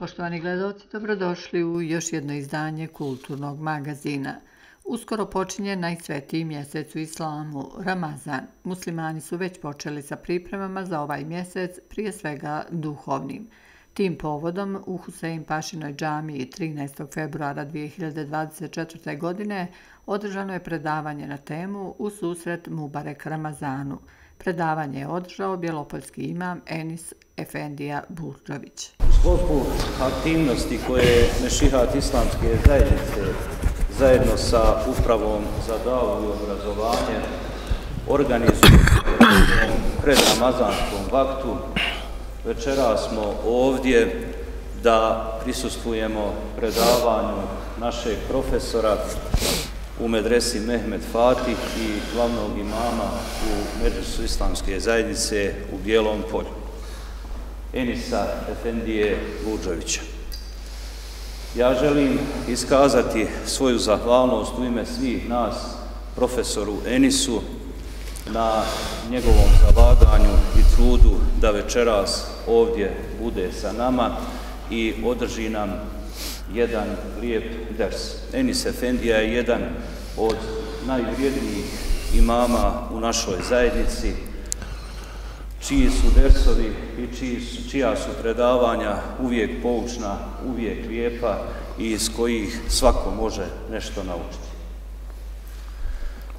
Poštovani gledalci, dobrodošli u još jedno izdanje kulturnog magazina. Uskoro počinje najsvetiji mjesec u islamu, Ramazan. Muslimani su već počeli sa pripremama za ovaj mjesec, prije svega duhovnim. Tim povodom u Husein Pašinoj džamiji 13. februara 2024. godine održano je predavanje na temu U susret Mubarek Ramazanu. Predavanje je održao bjelopoljski imam Enis Efendija Burdžović. U sklopu aktivnosti koje Mešihat islamske zajednice zajedno sa Upravom za davu i obrazovanje organizuju pred ramazanskom vaktu, večeras smo ovdje da prisustvujemo predavanju našeg profesora u medresi Mehmed Fatih i glavnog imama u Medresu islamske zajednice u Bijelom Polju, Enisa Efendije Burdžovića. Ja želim iskazati svoju zahvalnost u ime svih nas profesoru Enisu na njegovom zalaganju i trudu da večeras ovdje bude sa nama i održi nam jedan lijep ders. Enis Efendija je jedan od najvrijednijih imama u našoj zajednici, čiji su dersovi i čija su predavanja uvijek poučna, uvijek lijepa i iz kojih svako može nešto naučiti.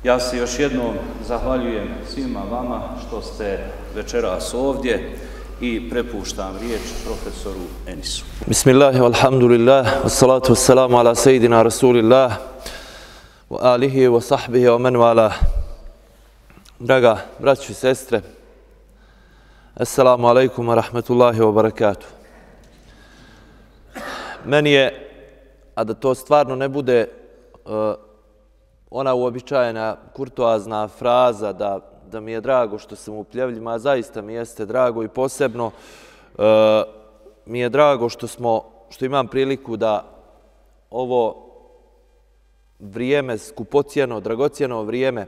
Ja se još jednom zahvaljujem svima vama što ste večeras ovdje i prepuštam riječ profesoru Enisu. Bismillah, alhamdulillah, wassalatu wassalamu ala sejidina Rasulillah, wa alihi wa sahbihi wa man wala. Draga braćo i sestre, assalamu alaikum wa rahmatullahi wa barakatuh. Meni je, a da to stvarno ne bude ona uobičajena kurtoazna fraza da mi je drago što sam u Pljevljima, a zaista mi jeste drago i posebno mi je drago što imam priliku da ovo vrijeme, skupocjeno, dragocjeno vrijeme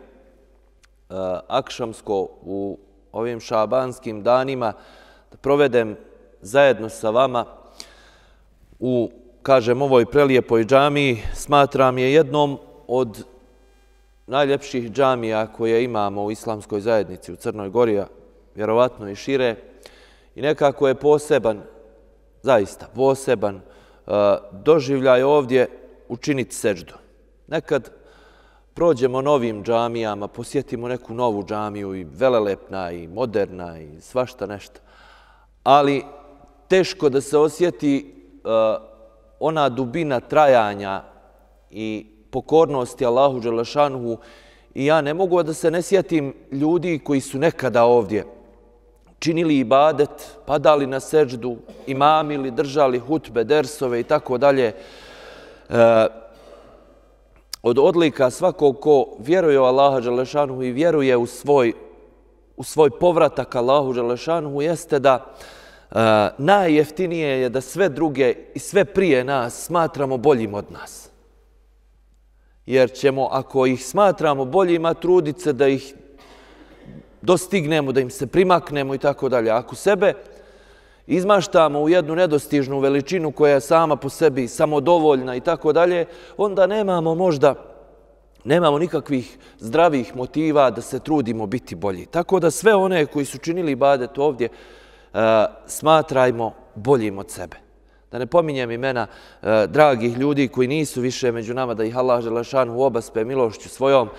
akšamsko u ovim šabanskim danima da provedem zajedno sa vama u, kažem, ovoj prelijepoj džamiji. Smatram je jednom od najljepših džamija koje imamo u islamskoj zajednici u Crnoj Gori, vjerovatno i šire. I nekako je poseban, zaista poseban doživljaj ovdje učiniti seđdu. Nekad prođemo novim džamijama, posjetimo neku novu džamiju i velelepna i moderna i svašta nešto. Ali teško da se osjeti ona dubina trajanja i pokornosti Allahu Đelešanuhu i ja ne mogu da se ne sjetim ljudi koji su nekada ovdje činili ibadet, padali na seđdu, imamili, držali hutbe, dersove i tako dalje. Od odlika svakog ko vjeruje u Allaha Đelešanuhu i vjeruje u svoj povratak Allahu Đelešanuhu jeste da najjeftinije je da sve druge i sve prije nas smatramo boljim od nas. Jer ćemo, ako ih smatramo boljima, truditi se da ih dostignemo, da im se primaknemo i tako dalje. Ako sebe izmaštamo u jednu nedostižnu veličinu koja je sama po sebi samodovoljna i tako dalje, onda nemamo nikakvih zdravih motiva da se trudimo biti bolji. Tako da sve one koji su činili ibadet ovdje smatrajmo boljim od sebe. Da ne pominjem imena dragih ljudi koji nisu više među nama, da ih Allah Đelešanuhu obaspe milošću svojom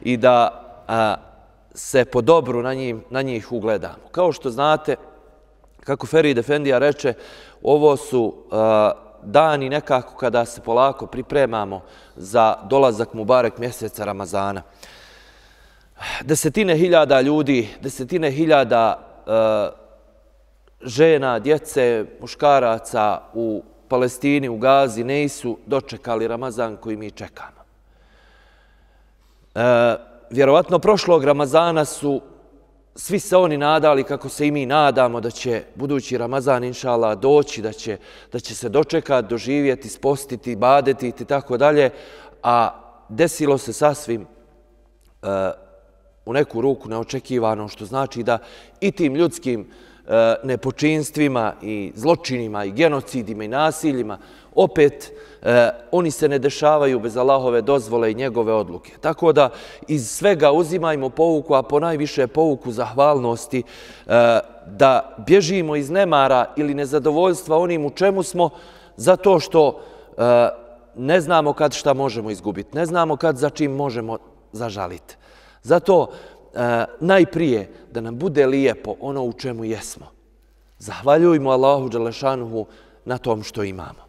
i da se po dobru na njih ugledamo. Kao što znate, kako Ferid Efendija reče, ovo su dani nekako kada se polako pripremamo za dolazak Mubarek mjeseca Ramazana. Desetine hiljada ljudi, desetine hiljada žena, djece, muškaraca u Palestini, u Gazi nisu dočekali Ramazan koji mi čekamo. Vjerovatno prošlog Ramazana su svi se oni nadali kako se i mi nadamo da će budući Ramazan inšallah doći, da će se dočekati, doživjeti, spostiti, badeti i tako dalje, a desilo se sasvim u neku ruku neočekivano, što znači da i tim ljudskim nepočinstvima i zločinima i genocidima i nasiljima, opet oni se ne dešavaju bez Allahove dozvole i njegove odluke. Tako da iz svega uzimajmo pouku, a ponajviše pouku zahvalnosti, da bježimo iz nemara ili nezadovoljstva onim u čemu smo, zato što ne znamo kad šta možemo izgubiti, ne znamo kad za čim možemo zažaliti. Zato najprije da nam bude lijepo ono u čemu jesmo. Zahvaljujmo Allahu dželešanuhu na tom što imamo.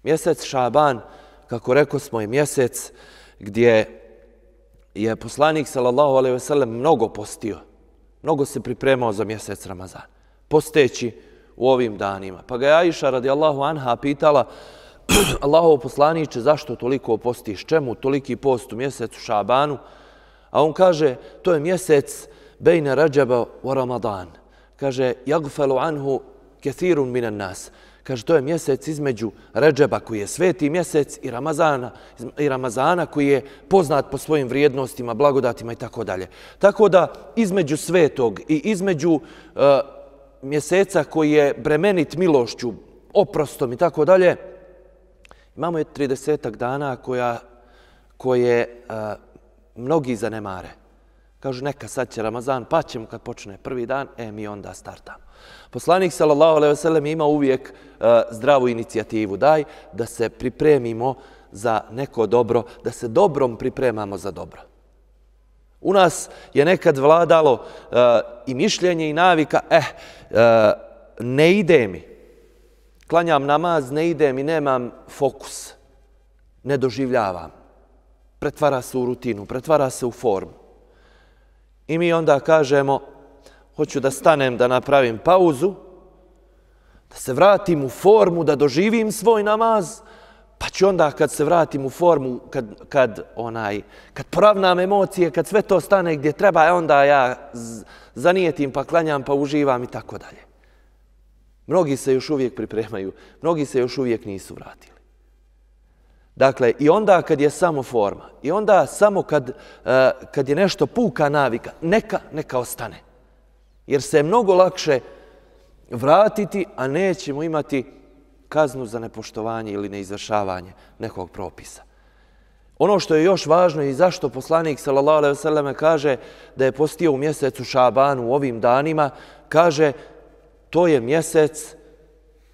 Mjesec Šaban, kako rekosmo, je mjesec gdje je poslanik sallallahu alejhi ve sellem mnogo postio, mnogo se pripremao za mjesec Ramazan, posteći u ovim danima. Pa ga je Aisha radijallahu anha pitala: Allahov poslaniče, zašto toliko postiš, čemu toliki post u mjesecu Šabanu? A on kaže, to je mjesec bejne Radžaba wa Ramadan. Kaže, jagfelu anhu kethirun minan nas. Kaže, to je mjesec između Redžeba koji je sveti mjesec i Ramazana koji je poznat po svojim vrijednostima, blagodatima i tako dalje. Tako da između svetog i između mjeseca koji je bremenit milošću, oprostom i tako dalje, imamo je 30 dana koje mnogi zanemare. Kažu, neka sad će Ramazan, pa ćemo kad počne prvi dan, mi onda startamo. Poslanik sallallahu alejhi ve sellem ima uvijek zdravu inicijativu. Daj da se pripremimo za neko dobro, da se dobrom pripremamo za dobro. U nas je nekad vladalo i mišljenje i navika, ne ide mi. Klanjam namaz, ne ide mi, nemam fokus. Ne doživljavam. Pretvara se u rutinu, pretvara se u formu. I mi onda kažemo, hoću da stanem, da napravim pauzu, da se vratim u formu, da doživim svoj namaz, pa ću onda kad se vratim u formu, kad poravnam emocije, kad sve to stane gdje treba, onda ja zanijetim, pa klanjam, pa uživam i tako dalje. Mnogi se još uvijek pripremaju, mnogi se još uvijek nisu vratili. Dakle, i onda kad je samo forma, i onda samo kad je nešto puka navika, neka ostane. Jer se je mnogo lakše vratiti, a nećemo imati kaznu za nepoštovanje ili neizvršavanje nekog propisa. Ono što je još važno i zašto poslanik sallallahu alejhi ve sellem kaže da je postio u mjesecu Šabanu u ovim danima, kaže to je mjesec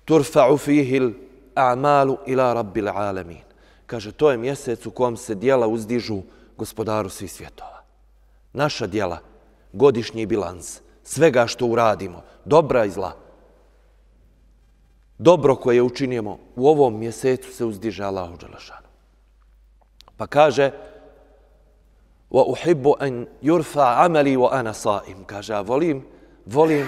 turfa'u fihil a'malu ila rabbil alamin. Kaže, to je mjesec u kojem se djela uzdižu gospodaru svih svjetova. Naša djela, godišnji bilans, svega što uradimo, dobra i zla. Dobro koje učinimo u ovom mjesecu se uzdiže Allahu dželešanu. Pa kaže, وَأُحِبُّ أَنْ يُرْفَعَ عَمَلِي وَأَنَا صَائِمٌ. Kaže, a volim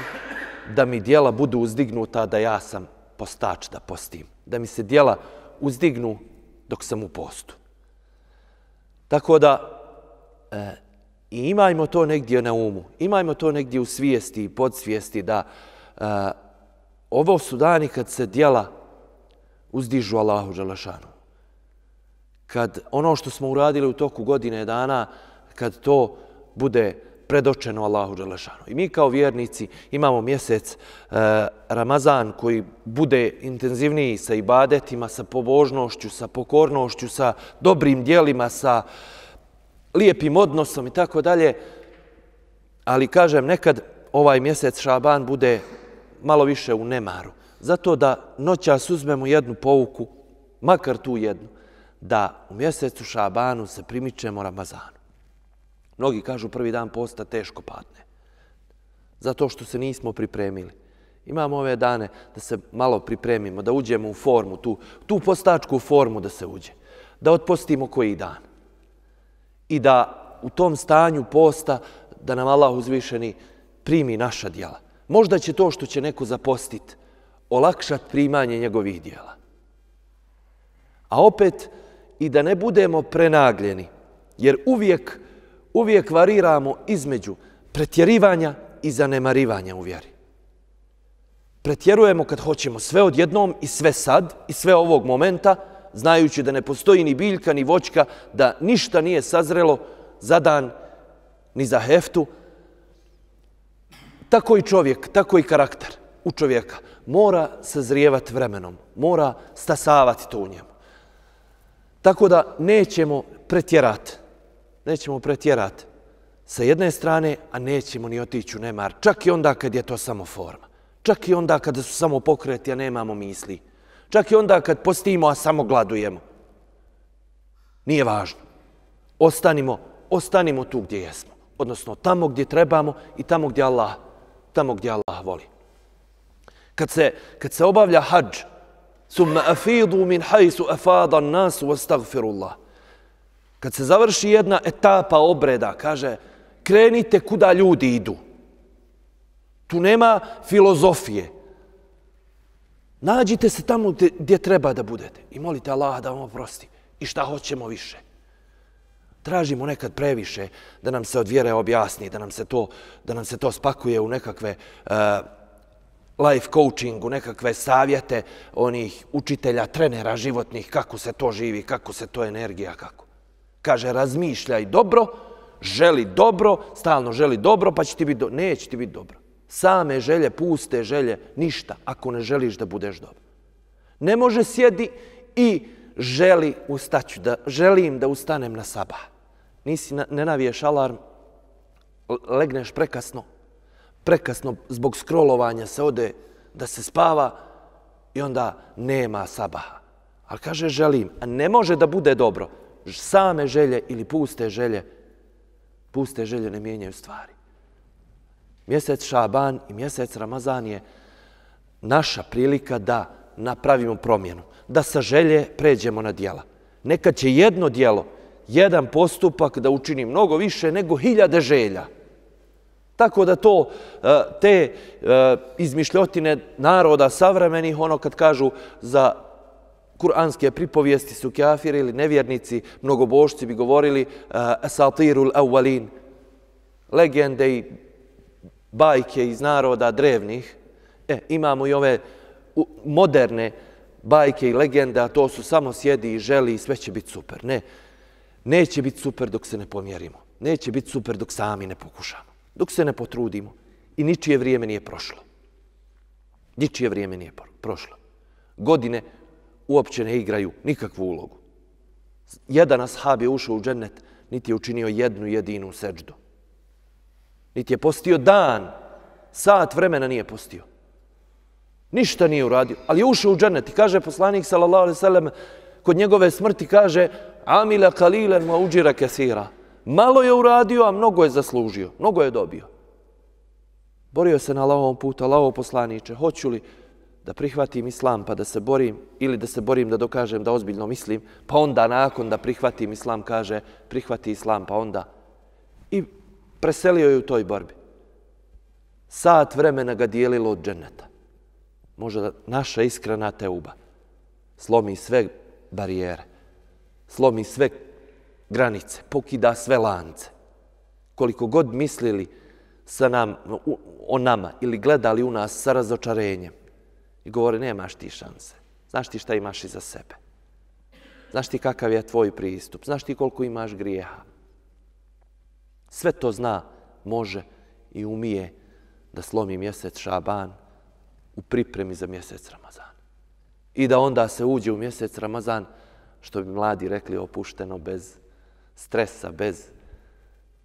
da mi djela budu uzdignuta da ja sam postač, da postim. Da mi se djela uzdignu dok sam u postu. Tako da imajmo to negdje na umu, imajmo to negdje u svijesti i podsvijesti da ovo su dani kad se djela uzdižu Allahu dželešanu. Kad ono što smo uradili u toku godine dana, kad to bude predočeno Allahu dželešanu. I mi kao vjernici imamo mjesec Ramazan koji bude intenzivniji sa ibadetima, sa pobožnošću, sa pokornošću, sa dobrim djelima, sa lijepim odnosom i tako dalje. Ali kažem, nekad ovaj mjesec Šaban bude malo više u nemaru. Zato da noćas uzmemo jednu pouku, makar tu jednu, da u mjesecu Šabanu se primičemo Ramazanu. Mnogi kažu prvi dan posta teško padne. Zato što se nismo pripremili. Imamo ove dane da se malo pripremimo, da uđemo u formu, tu postačku formu da se uđe. Da otpostimo koji dan. I da u tom stanju posta da nam Allah uzvišeni primi naša djela. Možda će to što će neko zapostiti olakšati primanje njegovih djela. A opet i da ne budemo prenagljeni, jer uvijek variramo između pretjerivanja i zanemarivanja u vjeri. Pretjerujemo kad hoćemo sve odjednom i sve sad i sve ovog momenta, znajući da ne postoji ni biljka ni voćka, da ništa nije sazrelo za dan ni za heftu. tako i čovjek, tako i karakter u čovjeka mora sazrijevati vremenom, mora stasavati to u njemu. Tako da nećemo pretjerati sa jedne strane, a nećemo ni otići u nemar, čak i onda kad je to samo forma, čak i onda kada su samo pokreti, a nemamo misli, čak i onda kad postimo, a samo gladujemo. Nije važno. Ostanimo tu gdje jesmo, odnosno tamo gdje trebamo i tamo gdje Allah voli. Kad se obavlja hadž, summa afidu min hajsu afada nasu wastagfirullah. Kad se završi jedna etapa obreda, kaže, krenite kuda ljudi idu. Tu nema filozofije. Nađite se tamo gdje treba da budete i molite Allaha da vam oprosti. I šta hoćemo više. Tražimo nekad previše da nam se od vjere objasni, da nam se to spakuje u nekakve life coaching, u nekakve savjete onih učitelja, trenera životnih, kako se to živi, kako se to energija, kako. Kaže, razmišljaj dobro, želi dobro, stalno želi dobro, pa će ti biti dobro. Neće ti biti dobro. Same želje, puste želje, ništa, ako ne želiš da budeš dobro. Ne može sjedi i želim da ustanem na sabah. Ne naviješ alarm, legneš prekasno zbog scrollovanja se ode da se spava i onda nema sabaha. Ali kaže želim, a ne može da bude dobro. Same želje ili puste želje ne mijenjaju stvari. Mjesec Šaban i mjesec Ramazan je naša prilika da napravimo promjenu, da sa želje pređemo na djela. Nekad će jedno djelo, jedan postupak da učini mnogo više nego 1000 želja. Tako da te izmišljotine naroda savremenih, ono kad kažu za kuranske pripovijesti su kafiri ili nevjernici, mnogobošci bi govorili asatirul awwalin, legende i bajke iz naroda drevnih. Imamo i ove moderne bajke i legende, a to su samo sjedi i želi i sve će biti super. Ne, neće biti super dok se ne pomjerimo. Neće biti super dok sami ne pokušamo. Dok se ne potrudimo i ničije vrijeme nije prošlo. Ničije vrijeme nije prošlo. Godine uopće ne igraju nikakvu ulogu. Jedan ashab je ušao u džennet, niti je učinio jednu jedinu seđdu. Niti je postio dan, sat vremena nije postio. Ništa nije uradio, ali je ušao u džennet i kaže poslanik sallallahu alejhi ve sellem kod njegove smrti kaže amila qalilan wa ujira kaseera. Malo je uradio, a mnogo je zaslužio, mnogo je dobio. Borio se na Allahovom putu, Allahov poslaniče, hoću li da prihvatim islam pa da se borim ili da se borim da dokažem da ozbiljno mislim, pa onda nakon da prihvatim islam kaže prihvati islam pa onda. I preselio je u toj borbi. Sat vremena ga dijelilo od dženneta. Možda naša iskrena teuba slomi sve barijere, slomi sve granice, pokida sve lance. Koliko god mislili o nama ili gledali u nas sa razočarenjem i govore nemaš ti šanse, znaš ti šta imaš iza sebe, znaš ti kakav je tvoj pristup, znaš ti koliko imaš grijeha. Sve to zna, može i umije da slomi mjesec Šaban u pripremi za mjesec Ramazan. I da onda se uđe u mjesec Ramazan, što bi mladi rekli, opušteno, bez stresa, bez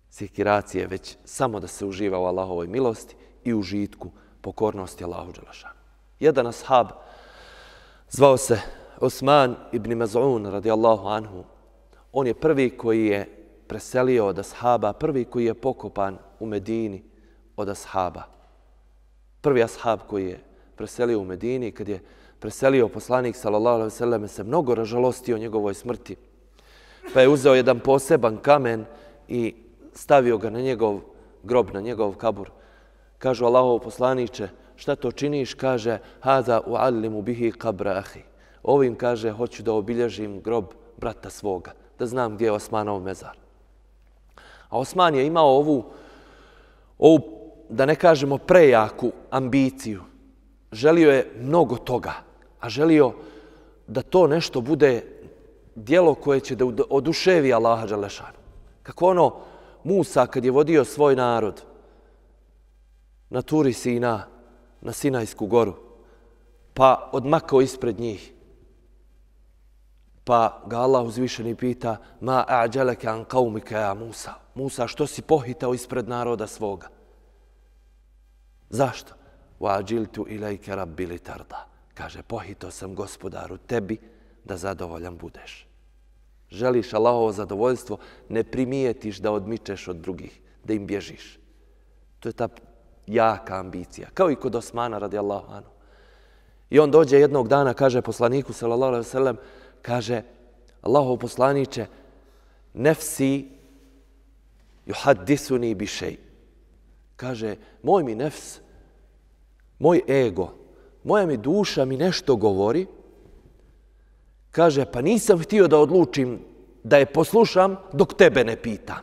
sikiracije, već samo da se uživa u Allahovoj milosti i užitku pokornosti Allahu dželešanu. Jedan ashab zvao se Osman ibn Maz'un radijallahu anhu. On je prvi koji je preselio od ashaba, prvi koji je pokopan u Medini od ashaba. Prvi ashab koji je preselio u Medini, kad je preselio poslanik sallallahu alejhi ve sellem, se mnogo ražalostio njegovoj smrti. Pa je uzeo jedan poseban kamen i stavio ga na njegov grob, na njegov kabur. Kažu Allahov poslaniče, šta to činiš? Kaže, hada uallimu bihi qabra ahi. Ovim kaže, hoću da obilježim grob brata svoga, da znam gdje je Osmanov mezar. A Osman je imao ovu, da ne kažemo prejaku ambiciju. Želio je mnogo toga, a želio da to nešto bude djelo koje će da oduševi Allaha dželešanu. Kako ono Musa kad je vodio svoj narod na Turi Sina, na Sinajsku goru, pa odmakao ispred njih. Pa ga Allah uzvišeni pita: Ma a'đaleke an qaumike ja Musa. Musa, što si pohitao ispred naroda svoga? Zašto? Wa ađiltu ilajke rabbi li tarda. Kaže, pohitao sam gospodaru tebi da zadovoljan budeš. Želiš Allahovo zadovoljstvo, ne primijetiš da odmičeš od drugih, da im bježiš. To je ta jaka ambicija. Kao i kod Osmana radijallahu anhu. I on dođe jednog dana, kaže poslaniku sallallahu alejhi ve sellem, kaže: Allahov poslaniče, nefsi yuhaddisuni bi shay. Kaže, moj mi nefs, moj ego, moja mi duša mi nešto govori. Kaže, pa nisam htio da odlučim da je poslušam dok tebe ne pitam.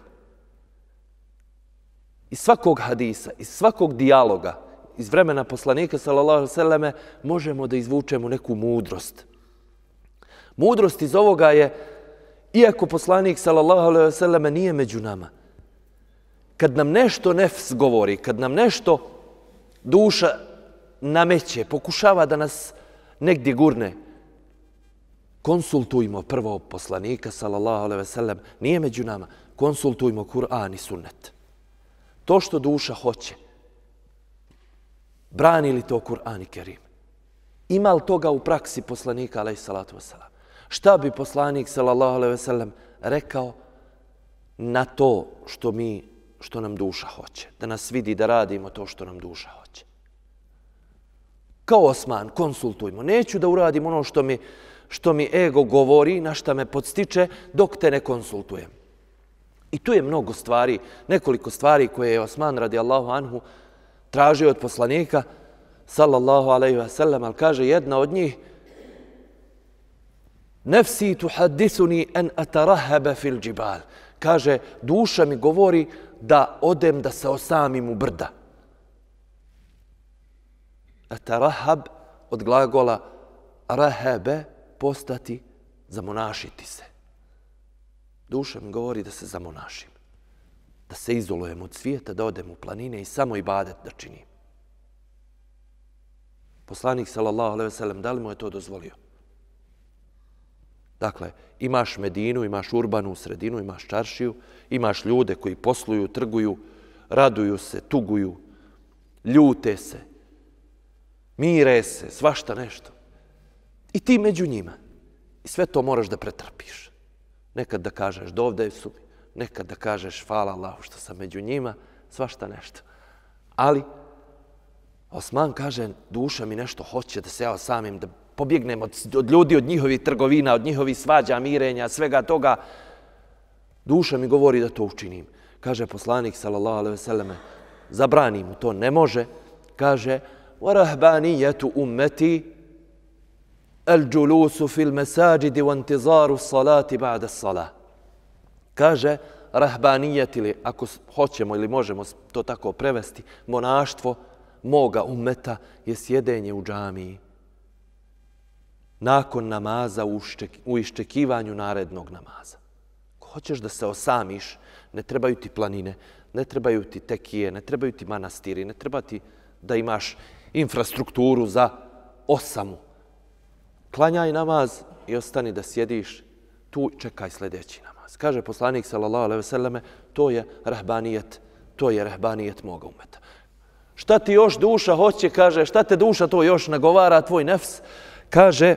Iz svakog hadisa, iz svakog dijaloga, iz vremena poslanika sallallahu alejhi ve selleme možemo da izvučemo neku mudrost. Mudrost iz ovoga je, iako poslanik sallallahu alejhi ve selleme nije među nama, kad nam nešto nefs govori, kad nam nešto duša nameće, pokušava da nas negdje gurne, konsultujmo prvo poslanika sallallahu alejhi ve sellem, nije među nama, konsultujmo Kur'an i sunnet. To što duša hoće, brani li to Kur'an i Kerim? Ima li toga u praksi poslanika alejhi salatu vesselam? Šta bi poslanik sallallahu alejhi ve sellem rekao na to što nam duša hoće? Da nas vidi da radimo to što nam duša hoće. Kao Osman, konsultujmo. Neću da uradim ono što mi ego govori, na šta me podstiče, dok te ne konsultujem. I tu je mnogo stvari, nekoliko stvari koje je Osman radijallahu anhu tražio od poslanika sallallahu alejhi ve sellem, ali kaže jedna od njih: Nefsi tuhaddisuni an atarahaba fil džibal. Kaže, duša mi govori da odem da se osamim u brda. Atarahab od glagola rahabe, postati, zamonašiti se. Duša mi govori da se zamonašim, da se izolujem od svijeta, da odem u planine i samo ibadet da činim. Poslanik sallallahu alejhi ve sellem, da li mu je to dozvolio? Dakle, imaš Medinu, imaš urbanu sredinu, imaš čaršiju, imaš ljude koji posluju, trguju, raduju se, tuguju, ljute se, mire se, svašta nešto. I ti među njima. I sve to moraš da pretrpiš. Nekad da kažeš dovde su mi, nekad da kažeš hvala Allahu što sam među njima, svašta nešto. Ali Osman kaže, duša mi nešto hoće da se ja osamim, da pobjegnem od ljudi, od njihovih trgovina, od njihovih svađa, mirenja, svega toga. Duša mi govori da to učinim. Kaže poslanik sallallahu alejhi ve selleme, zabrani mu to, ne može. Kaže, وَرَهْبَانِيَّةُ أُمَّتِي الْجُلُوسُ فِي الْمَسَاجِدِ وَانْتِظَارُ الصَّلَاةِ بَعْدَ الصَّلَاةِ. Kaže, rahbanijet, ili ako hoćemo ili možemo to tako prevesti, monaštvo moga ummeta je sjedenje u džamiji nakon namaza u iščekivanju narednog namaza. Ako hoćeš da se osamiš, ne trebaju ti planine, ne trebaju ti tekije, ne trebaju ti manastiri, ne treba ti da imaš infrastrukturu za osamu. Klanjaj namaz i ostani da sjediš tu, čekaj sljedeći namaz. Kaže poslanik sallallahu alejhi ve selleme, to je rahbanijet moga ummeta. Šta ti još duša hoće, kaže, šta te duša to još nagovara, tvoj nefs? Kaže,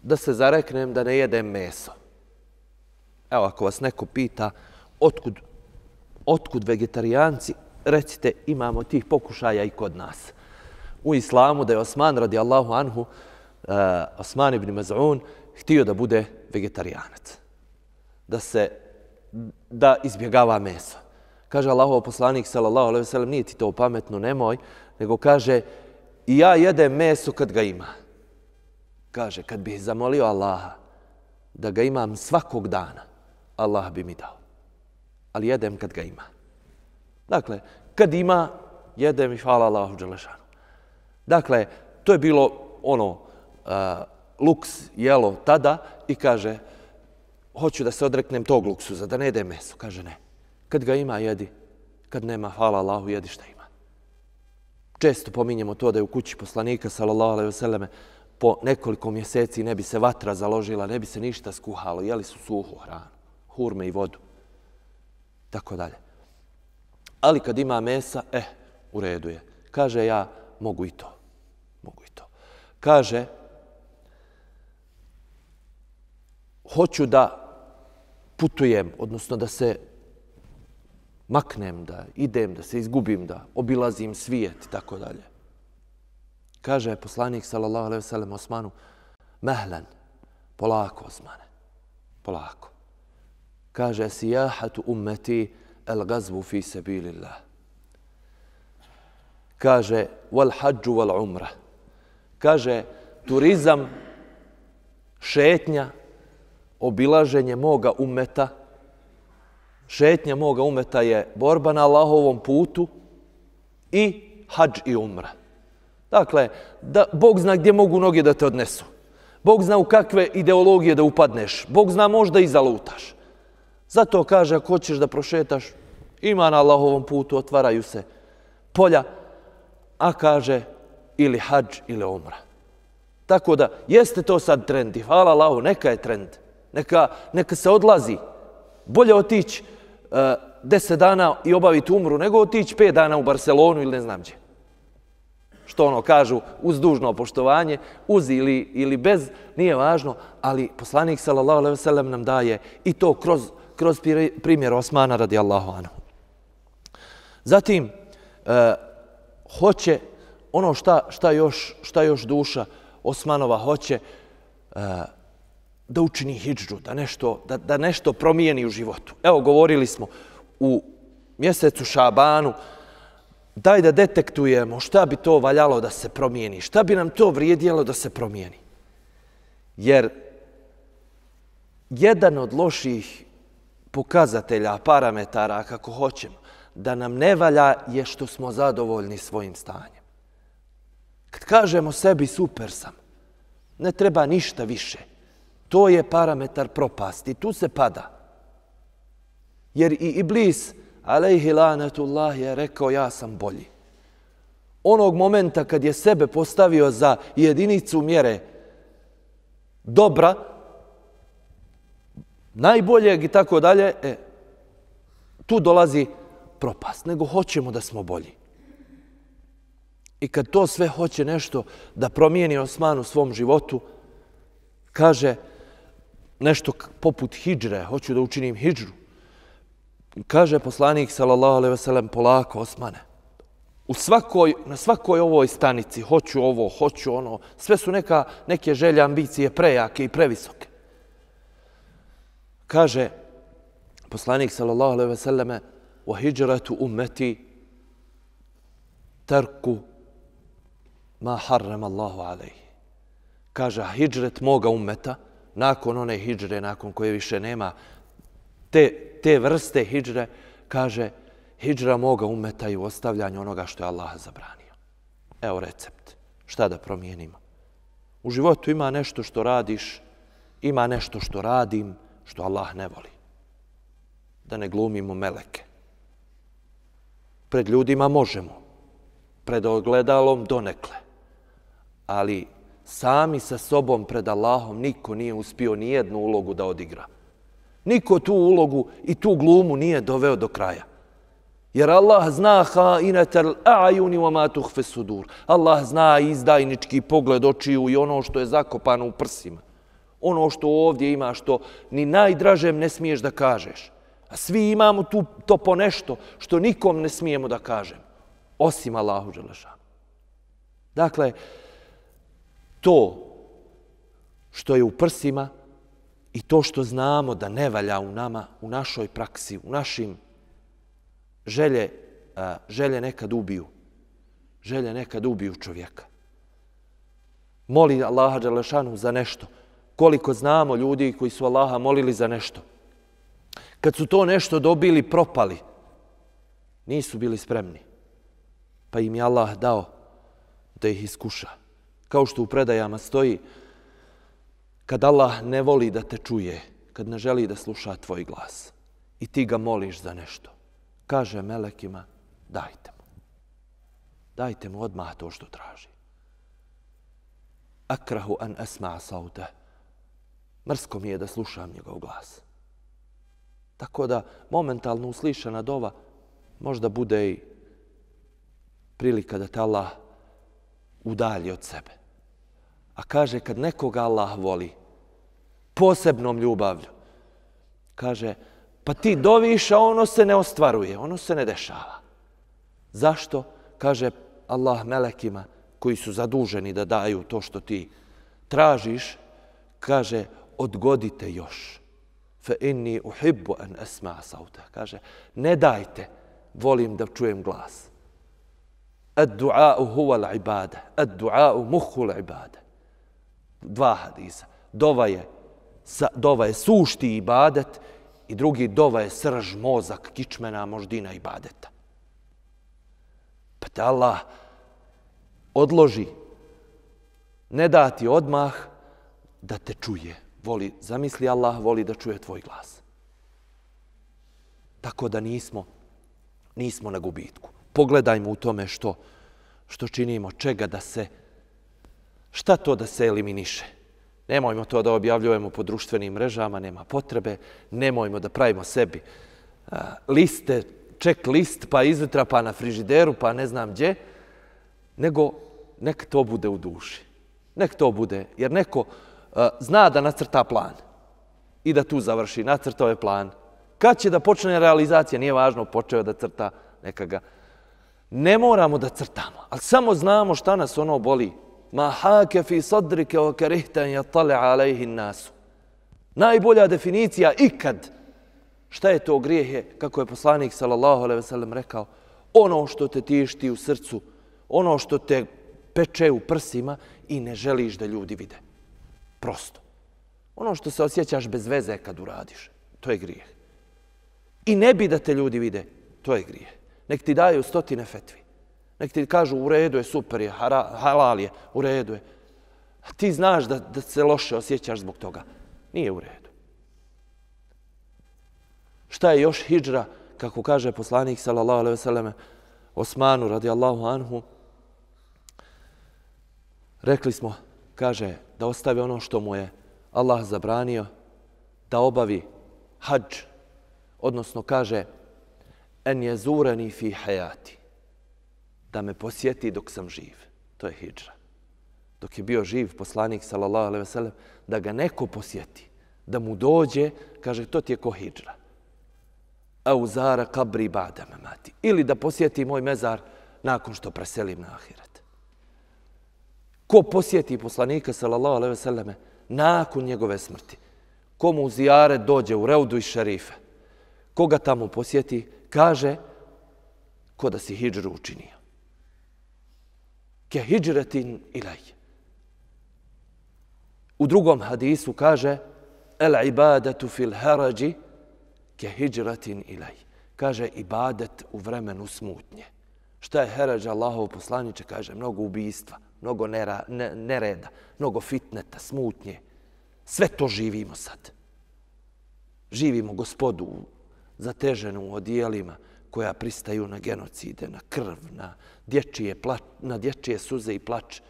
da se zareknem da ne jedem meso. Evo, ako vas neko pita otkud vegetarijanci, recite, imamo tih pokušaja i kod nas. U islamu da je Osman radijallahu anhu, Osman ibn Maz'un, htio da bude vegetarijanac. Da izbjegava meso. Kaže Allahov poslanik sallallahu alejhi ve sellem, nije ti to pametno, nemoj, nego kaže, i ja jedem meso kad ga ima. Kaže, kad bih zamolio Allaha da ga imam svakog dana, Allah bi mi dao. Ali jedem kad ga ima. Dakle, kad ima, jedem i hvala Allahu dželešanu. Dakle, to je bilo luks jelo tada i kaže, hoću da se odreknem tog luksuza, da ne jedem meso. Kaže, ne. Kad ga ima, jedi. Kad nema, hvala Allahu, jedi šta ima. Često pominjemo to da je u kući poslanika, sallallahu alejhi ve selleme, po nekoliko mjeseci ne bi se vatra založila, ne bi se ništa skuhalo, jeli su suhu hranu, hurme i vodu, tako dalje. Ali kad ima mesa, u redu je. Kaže, ja mogu i to. Kaže, hoću da putujem, odnosno da se maknem, da idem, da se izgubim, da obilazim svijet i tako dalje. Kaže poslanik sallallahu alejhi ve sellem Osmanu, mehlen, polako Osmane, polako. Kaže, sijahatu ummeti el gazvu fi sabilillah. Kaže, wal hađu wal umra. Kaže, turizam, šetnja, obilaženje moga ummeta, šetnja moga ummeta je borba na Allahovom putu i hadž i umra. Dakle, Bog zna gdje mogu noge da te odnesu. Bog zna u kakve ideologije da upadneš. Bog zna možda i zalutaš. Zato kaže, ako hoćeš da prošetaš, ima na Allahovom putu, otvaraju se polja, a kaže ili hadž ili umra. Tako da, jeste to sad trend i hvala Allahu, neka je trend. Neka se odlazi. Bolje otići 10 dana i obaviti umru, nego otići 5 dana u Barcelonu ili ne znam gdje. Što kažu, uz dužno poštovanje, uz ili bez, nije važno, ali poslanik sallallahu alejhi ve sellem nam daje i to kroz primjer Osmana radijallahu anhu. Zatim, hoće, ono šta još duša Osmanova hoće, da učini hidžru, da nešto promijeni u životu. Evo, govorili smo u mjesecu Šabanu, daj da detektujemo šta bi to valjalo da se promijeni, šta bi nam to vrijedilo da se promijeni. Jer jedan od loših pokazatelja, parametara, kako hoćemo, da nam ne valja je što smo zadovoljni svojim stanjem. Kad kažemo sebi super sam, ne treba ništa više. To je parametar propasti, tu se pada. Jer i Iblis, alejhi lanetullah, je rekao ja sam bolji. Onog momenta kad je sebe postavio za jedinicu mjere dobra, najboljeg i tako dalje, tu dolazi propast, nego hoćemo da smo bolji. I kad to sve hoće nešto da promijeni Osman u svom životu, kaže nešto poput hidžre, hoću da učinim hidžru. Kaže poslanik sallallahu alejhi ve sellem, polako Osmane. Na svakoj ovoj stanici hoću ovo, hoću ono, sve su neke želje, ambicije prejake i previsoke. Kaže poslanik sallallahu alejhi ve selleme, wa hijratu ummeti tarku ma harrama Allahu alejhi. Kaže, hidžret moga ummeta, nakon one hidžre, nakon koje više nema te vrste hidžre, kaže, hidžra moga ummeta i u ostavljanju onoga što je Allah zabranio. Evo recept. Šta da promijenimo? U životu ima nešto što radiš, ima nešto što radim, što Allah ne voli. Da ne glumimo meleke. Pred ljudima možemo, pred ogledalom donekle, ali sami sa sobom pred Allahom niko nije uspio ni jednu ulogu da odigra. Niko tu ulogu i tu glumu nije doveo do kraja. Jer Allah zna hainetel a'juni wa ma tuhfe sudur. Allah zna izdajnički pogled očiju i ono što je zakopano u prsima. Ono što ovdje ima, što ni najdražem ne smiješ da kažeš. A svi imamo to po nešto što nikom ne smijemo da kažem. Osim Allahu dželešanu. Dakle, to što je u prsima i to što znamo da ne valja u nama, u našoj praksi, u našim želje nekad ubiju. Želje nekad ubiju čovjeka. Moli Allaha dželešanu za nešto. Koliko znamo ljudi koji su Allaha molili za nešto. Kad su to nešto dobili, propali. Nisu bili spremni. Pa im je Allah dao da ih iskuša. Kao što u predajama stoji, kad Allah ne voli da te čuje, kad ne želi da sluša tvoj glas i ti ga moliš za nešto, kaže melekima, dajte mu. dajte mu odmah to što traži. Akrahu an asma sauta. Mrsko mi je da slušam njegov glas. Tako da momentalno uslišana dova možda bude i prilika da te Allah udalji od sebe. A kaže, kad nekoga Allah voli posebnom ljubavlju, kaže, pa ti doviš, a ono se ne ostvaruje, ono se ne dešava. Zašto? Kaže Allah melekima koji su zaduženi da daju to što ti tražiš, kaže, odgodite još. Fa inni uhibbu an asma sauta. Kaže, ne dajte, volim da čujem glas. Ad-du'a'u huwa al-ibada. Ad-du'a'u muhu al-ibada. 2 hadisa. Dova je sušti ibadet i drugi dova je srž, mozak, kičmena, moždina ibadeta. Pa te Allah odloži, ne dati odmah da te čuje. Zamisli, Allah voli da čuje tvoj glas. Tako da nismo na gubitku. Pogledajmo u tome što činimo, šta to da se eliminiše. Nemojmo to da objavljujemo po društvenim mrežama, nema potrebe. Nemojmo da pravimo sebi liste, check list, pa izjutra, pa na frižideru, pa ne znam gdje. Nego nek to bude u duši. Nek to bude, jer neko zna da nacrta plan i da tu završi, nacrtao je plan. Kad će da počne realizacija, nije važno, počeo da crta nekaga. Ne moramo da crtamo, ali samo znamo šta nas ono boli. Ma hake fi sadrike o kerihten jatale alejhi nasu. Najbolja definicija ikad. Šta je to grijeh? Kako je poslanik sallallahu alejhi ve sellem rekao, ono što te tišti u srcu, ono što te peče u prsima i ne želiš da ljudi vide. Prosto. Ono što se osjećaš bez veze kad uradiš, to je grijeh. I ne bi da te ljudi vide, to je grijeh. Nek ti daju 100 fetvi. Nek ti kažu u redu je, super je, halal je, u redu je. A ti znaš da se loše osjećaš zbog toga. Nije u redu. Šta je još hidžra, kako kaže poslanik sallallahu alejhi ve selleme Osmanu radijallahu anhu? Rekli smo, kaže, da ostavi ono što mu je Allah zabranio, da obavi hadž, odnosno kaže en jezurani fi hayati, da me posjeti dok sam živ. To je hidžra. Dok je bio živ poslanik sallallahu alejhi ve sellem, da ga neko posjeti, da mu dođe, kaže, to ti je ko hidžra. Au zara kabri ba'da mamati, ili da posjeti moj mezar nakon što preselim na ahiret. Ko posjeti poslanika sallallahu alejhi ve selleme nakon njegove smrti, ko mu u zijaret dođe u Reudu i Šerife, koga tamo posjeti, kaže, ko da si hidžru učinio. Ke hidžretin ilaj. U drugom hadisu kaže, el ibadatu fil harađi ke hidžretin ilaj. Kaže, ibadet u vremenu smutnje. Šta je harađ Allahov poslaniče? Kaže, mnogo ubijstva, mnogo nereda, mnogo fitneta, smutnje. Sve to živimo sad. Živimo Gospodu zateženu u odijelima koja pristaju na genocide, na krv, na dječje suze i plač,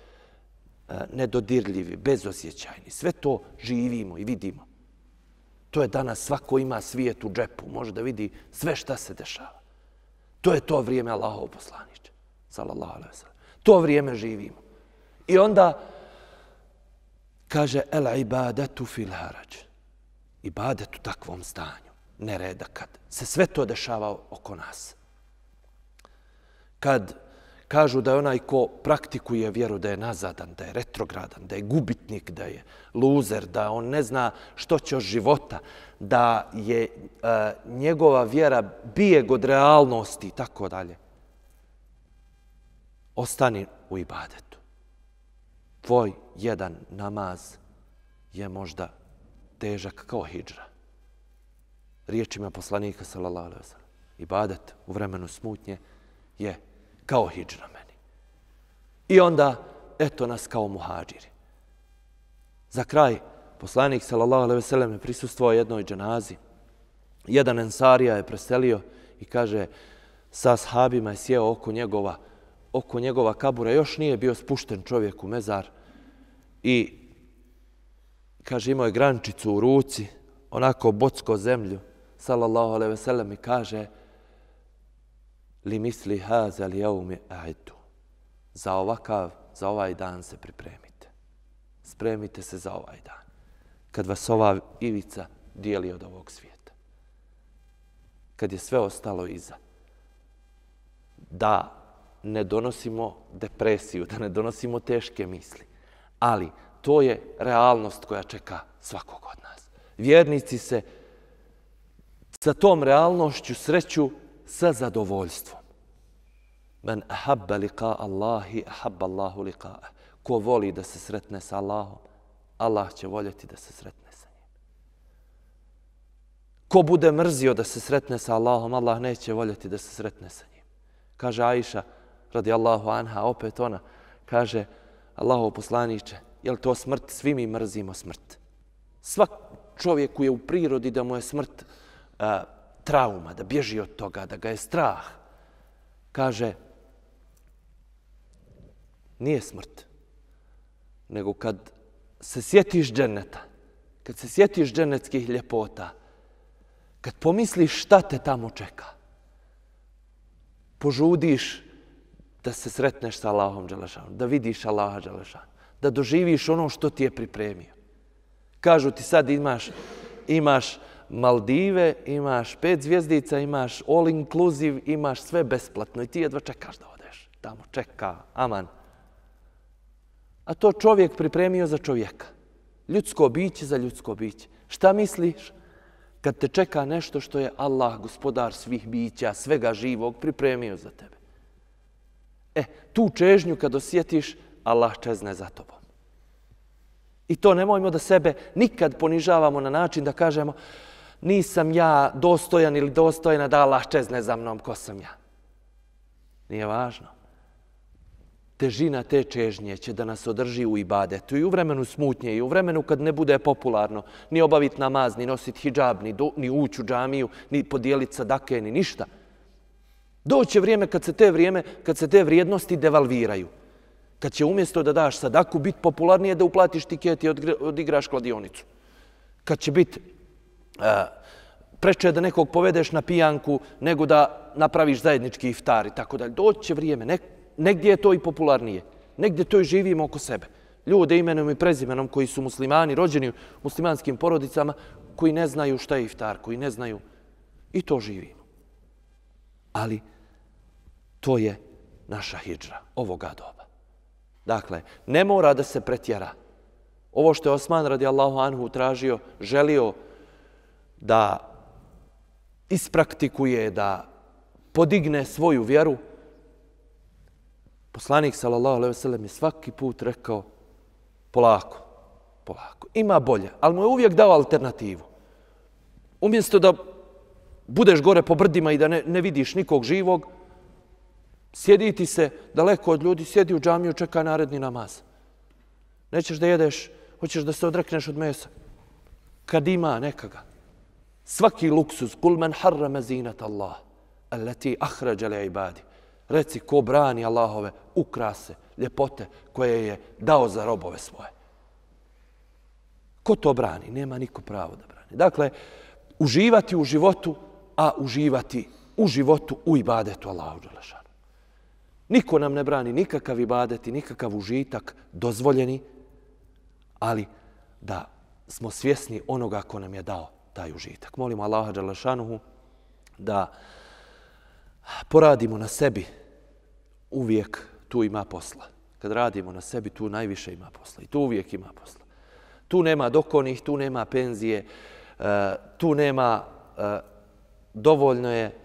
nedodirljivi, bezosjećajni. Sve to živimo i vidimo. To je danas, svako ima svijet u džepu, može da vidi sve šta se dešava. To je to vrijeme Allahov poslaniče, sallallahu alejhi ve sellem. To vrijeme živimo. I onda kaže el ibadatu fil harađ. Ibadet u takvom stanju, nereda, kad se sve to dešava oko nas. Kad kažu da je onaj ko praktikuje vjeru da je nazadan, da je retrogradan, da je gubitnik, da je luzer, da on ne zna što će od života, da je njegova vjera bijeg od realnosti i tako dalje. Ostani u ibadetu. Tvoj jedan namaz je možda težak kao hidžra. Riječima poslanika sallallahu alejhi ve sellem. Ibadet u vremenu smutnje je kao hidžra meni. I onda, eto nas kao muhadžiri. Za kraj, poslanik sallallahu alejhi ve sellem je prisustvovao jednoj dženazi. Jedan ensarija je preselio i kaže, sa ashabima je sjeo oko njegova oko njegova kabura, još nije bio spušten čovjek u mezar i kaže imao je grančicu u ruci, onako bocko zemlju, sallallahu alejhi ve sellem, i kaže li misli haza li yaumi a'iddu, za ovaj dan se pripremite. Spremite se za ovaj dan. Kad vas ova ivica dijeli od ovog svijeta. Kad je sve ostalo iza. Da ne donosimo depresiju, da ne donosimo teške misli. Ali to je realnost koja čeka svakog od nas. Vjernici se sa tom realnošću sreću sa zadovoljstvom. Men ahabba liqa Allahi, ahabba Allahu liqa'ah. Ko voli da se sretne sa Allahom, Allah će voljeti da se sretne sa njim. Ko bude mrzio da se sretne sa Allahom, Allah neće voljeti da se sretne sa njim. Kaže Aisha, radijallahu anha, opet ona, kaže, Allahov poslaniče, je li to smrt? Svi mi mrzimo smrt. Svak čovjeku je u prirodi da mu je smrt trauma, da bježi od toga, da ga je strah. Kaže, nije smrt, nego kad se sjetiš dženeta, kad se sjetiš dženetskih ljepota, kad pomisliš šta te tamo čeka, požudiš da se sretneš sa Allahom dželešanom, da vidiš Allaha dželešanom, da doživiš ono što ti je pripremio. Kažu ti sad imaš Maldive, imaš 5 zvjezdica, imaš all inclusive, imaš sve besplatno i ti jedva čekaš da odeš. Tamo čeka, aman. A to čovjek pripremio za čovjeka. Ljudsko biće za ljudsko biće. Šta misliš kad te čeka nešto što je Allah, gospodar svih bića, svega živog, pripremio za tebe? Tu čežnju kad osjetiš, Allah čezne za tobom. I to nemojmo da sebe nikad ponižavamo na način da kažemo nisam ja dostojan ili dostojna da Allah čezne za mnom, ko sam ja. Nije važno. Težina te čežnje će da nas održi u ibadetu i u vremenu smutnje i u vremenu kad ne bude popularno ni obaviti namaz, ni nositi hidžab, ni ući u džamiju, ni podijeliti sadake, ni ništa. Doće vrijeme kad se te vrijednosti devalviraju. Kad će umjesto da daš sadaku biti popularnije da uplatiš tiket i odigraš kladionicu. Kad će biti preče da nekog povedeš na pijanku nego da napraviš zajednički iftar i tako dalje. Doći će vrijeme. Negdje je to i popularnije. Negdje to i živimo oko sebe. Ljude imenom i prezimenom koji su muslimani, rođeni u muslimanskim porodicama, koji ne znaju šta je iftar, koji ne znaju. I to živimo. Ali to je naša hidžra ovoga doba. Dakle, ne mora da se pretjera. Ovo što je Osman radijallahu anhu tražio, želio da ispraktikuje, da podigne svoju vjeru, poslanik sallallahu alejhi ve sellem je svaki put rekao polako, polako. Ima bolje, ali mu je uvijek dao alternativu. Umjesto da budeš gore po brdima i da ne vidiš nikog živog, sjedi ti se daleko od ljudi, sjedi u džamiju, čekaj naredni namaz. Nećeš da jedeš, hoćeš da se odrekneš od mesa. Kad ima nekaga. Svaki luksuz, kul men harrama zinat Allah, allati ahrađa li ibadi. Reci ko brani Allahove ukrase, ljepote koje je dao za robove svoje. Ko to brani? Nema niko pravo da brani. Dakle, uživati u životu, a uživati u životu u ibadetu Allahu dželešanu. Niko nam ne brani nikakav ibadet i nikakav užitak dozvoljeni, ali da smo svjesni onoga ko nam je dao taj užitak. Molimo Allaha dželešanuhu da poradimo na sebi, uvijek tu ima posla. Kad radimo na sebi, tu najviše ima posla i tu uvijek ima posla. Tu nema dokonih, tu nema penzije, tu nema, dovoljno je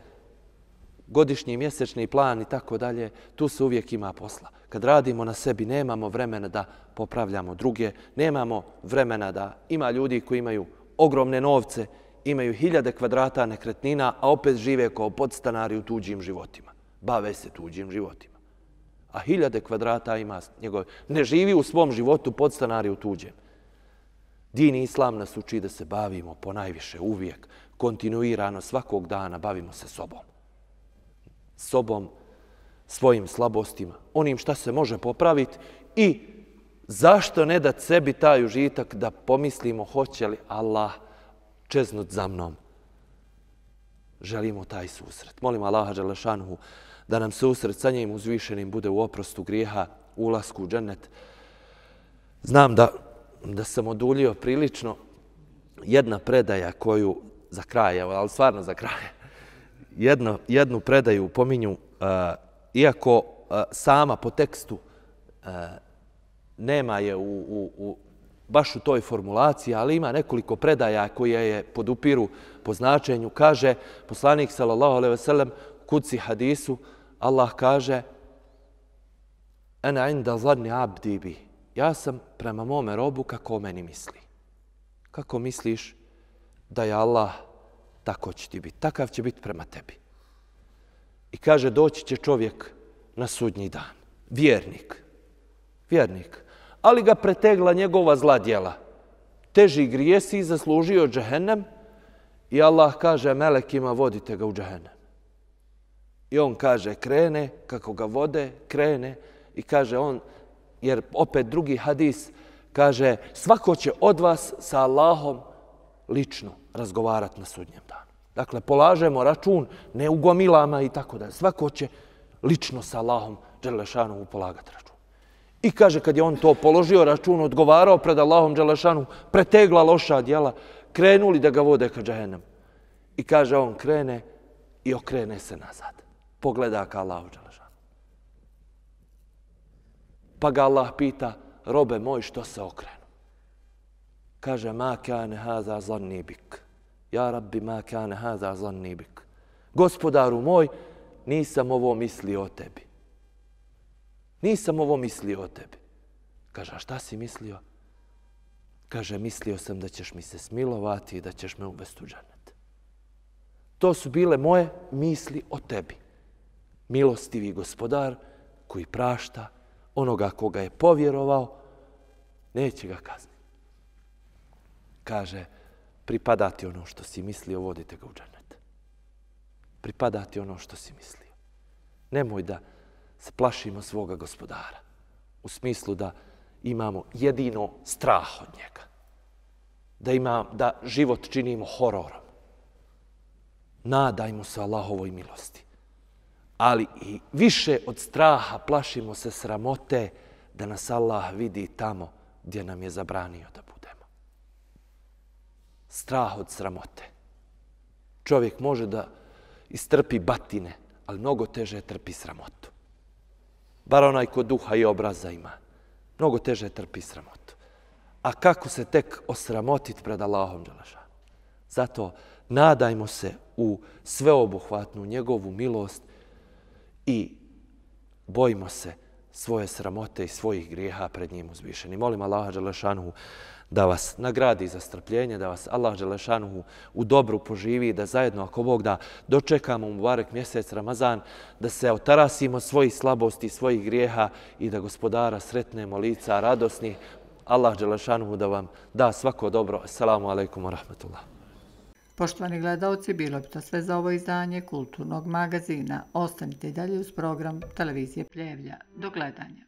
godišnji, mjesečni plan i tako dalje, tu se uvijek ima posla. Kad radimo na sebi, nemamo vremena da popravljamo druge, nemamo vremena da ima ljudi koji imaju ogromne novce, imaju 1000 kvadrata nekretnina, a opet žive kao podstanari u tuđim životima. Bave se tuđim životima. A 1000 kvadrata ima njegove. Ne živi u svom životu podstanari u tuđem. Din i Islam nas uči da se bavimo ponajviše uvijek, kontinuirano, svakog dana bavimo se sobom. Sobom svojim slabostima, onim šta se može popraviti i zašto ne dati sebi taj užitak da pomislimo hoće li Allah čeznut za mnom. Želimo taj susret. Molim Allaha dželešanuhu da nam susret sa njim uzvišenim bude u oprostu grijeha, ulasku u džennet. Znam da sam oduljio prilično. Jedna predaja koju za kraj, ali stvarno za kraj, jednu predaju pominju, iako sama po tekstu nema je baš u toj formulaciji, ali ima nekoliko predaja koje je podupiru po značenju. Kaže poslanik sallallahu alejhi ve sellem kudsi hadisu, Allah kaže: "Ana inda zanni abdi bi." Ja sam prema mome robu kako o meni misli. Kako misliš da je Allah, tako će ti biti. Takav će biti prema tebi. I kaže, doći će čovjek na sudnji dan. Vjernik. Ali ga pretegla njegova zla djela. Teži grijesi i zaslužio džehennem. I Allah kaže melekima, vodite ga u džehennem. I on kaže, krene, kako ga vode, krene. I kaže on, jer opet drugi hadis, kaže, svako će od vas sa Allahom lično razgovarati na sudnjem danu. Dakle, polažemo račun, ne u gomilama i tako da. Svako će lično sa Allahom dželešanuhu polagati račun. I kaže, kad je on to položio račun, odgovarao pred Allahom dželešanuhu, pretegla loša djela, krenuli da ga vode ka džehennem. I kaže, on krene i okrene se nazad. Pogleda ka Allahu dželešanuhu. Pa ga Allah pita, robe moj, što se okrenu? Kaže, ma kane haza zanni bik. Ja rabbi, ma kane haza zanni bik. Gospodaru moj, nisam ovo mislio o tebi. Nisam ovo mislio o tebi. Kaže, a šta si mislio? Kaže, mislio sam da ćeš mi se smilovati i da ćeš me uvesti u džennet. To su bile moje misli o tebi. Milostivi gospodar koji prašta onoga koga je povjerovao, neće ga kazniti. Kaže, pripada ti ono što si mislio, vodite ga u džennet. Pripada ti ono što si mislio. Nemoj da se plašimo svoga gospodara. U smislu da imamo jedino strah od njega. Da život činimo hororom. Nadajmo se Allahovoj milosti. Ali i više od straha plašimo se sramote da nas Allah vidi tamo gdje nam je zabranio da budemo. Strah od sramote. Čovjek može da istrpi batine, ali mnogo teže trpi sramotu. Bar onaj ko duha i obraza ima. Mnogo teže trpi sramotu. A kako se tek osramotiti pred Allahom dželešanuhu? Zato nadajmo se u sveobuhvatnu njegovu milost i bojimo se svoje sramote i svojih grijeha pred njim uzvišeni. Molim Allaha dželešanuhu da vas nagradi za strpljenje, da vas Allah dželešanuhu u dobru poživi, da zajedno, ako Bog da, dočekamo mubarek mjesec Ramazan, da se otarasimo svojih slabosti, svojih grijeha i da gospodara sretnemo lica radosnih. Allah dželešanuhu da vam da svako dobro. Assalamu alaikum wa rahmatullah. Poštovani gledalci, bilo bi to sve za ovo izdanje Kulturnog magazina. Ostanite dalje uz program Televizije Pljevlja. Do gledanja.